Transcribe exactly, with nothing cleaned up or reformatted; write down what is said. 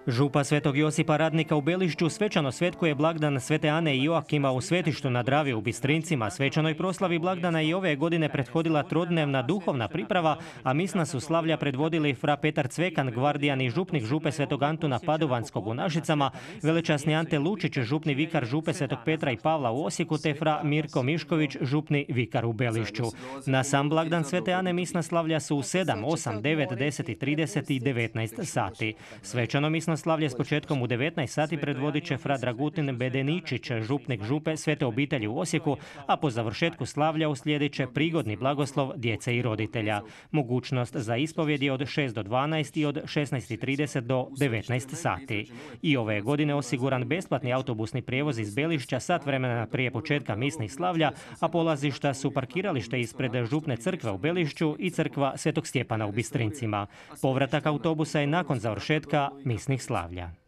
Župa Svetog Josipa Radnika u Belišću svečano svetkuje blagdan Svete Ane i Joakima u svetištu na Dravi u Bistrincima. Svečanoj proslavi blagdana i ove godine prethodila trodnevna duhovna priprava, a misna su slavlja predvodili fra Petar Cvekan, gvardijan i župnik župe Svetog Antuna Padovanskog u Našicama, velečasni Ante Lučić, župni vikar župe Svetog Petra i Pavla u Osijeku, te fra Mirko Mišković, župni vikar u Belišću. Na sam blagdan Svete Ane misna slavlja su u sedam, osam, devet, deset, trideset i devetnaest sati. Svečano misno slavlje s početkom u devetnaest sati predvodit će fra Dragutin Bedeničić, župnik župe Svete obitelji u Osijeku, a po završetku slavlja uslijedit će prigodni blagoslov djece i roditelja. Mogućnost za ispovjed je od šest do dvanaest i od šesnaest i trideset do devetnaest sati. I ove godine osiguran besplatni autobusni prijevoz iz Belišća sat vremena prije početka misnih slavlja, a polazišta su parkiralište ispred župne crkve u Belišću i crkva Svetog Stjepana u Bistrincima. Povratak autobusa je nakon završetka misnih slavlja.